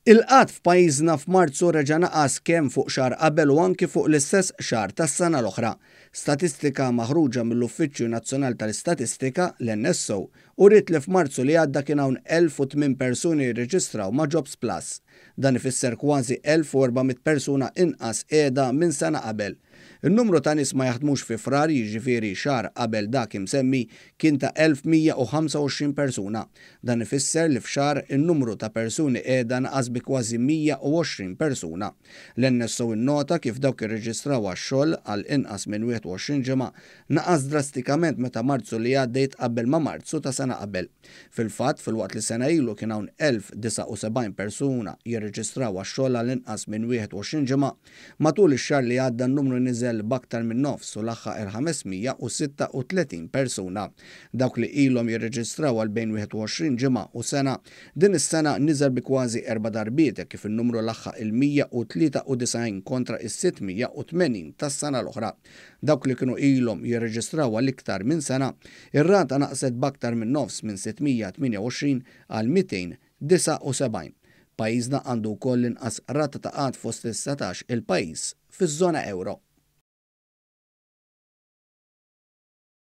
Il-qgħad f'pajjiżna f'Marzu reġa' naqas kemm fuq xahar qabel u anki fuq l-istess xahar tas-sena l-oħra. Statistika maħruġa mill-Uffiċċju Nazzjonali tal-Istatistika, l-NSO, uriet li f'Marzu li għadda kien hawn 1,008 persuni jirreġistraw ma' Jobs Plus. Dan ifisser kważi 1,400 persuna inqas qiegħda minn sena qabel. In-numru ta' nies ma jaħdmux fi Frar, jiġifieri xahar qabel dak imsemmi, kien ta' 1,125 persuna. Dan ifisser li f'xahar in-numru ta' persuni qiegħda naqas bi kważi 120 persuna. L-NSO innota kif dawk irreġistraw għax-xogħol għal inqas minn 21 ġimgħa naqas drastikament meta Marzu li għadda jitqabbel ma' Marzu ta' sena qabel. Fil-fatt, filwaqt li sena ilu kien hawn 1,079 persuna jirreġistraw għax-xogħol għal inqas minn 21 ġimgħa, Matul ix-xahar li għadda n-numru niżel b'aktar minn nofs u laħħaq il-536 persuna. Dawk li ilhom jirreġistraw għal bejn 21 ġimgħa u sena, din is-sena niżel bi kważi erba' darbiet hekk kif in-numru laħħaq il-193 kontra is-680 tas-sena l-oħra. Dawk li kienu ilhom jirreġistraw għal iktar minn sena, ir-rata naqset b'aktar minn nofs minn 628 għal 279. Pajjiżna għandu wkoll l-inqas rata ta' qgħad fost is-satax il pajjiż fiż-żona ewro.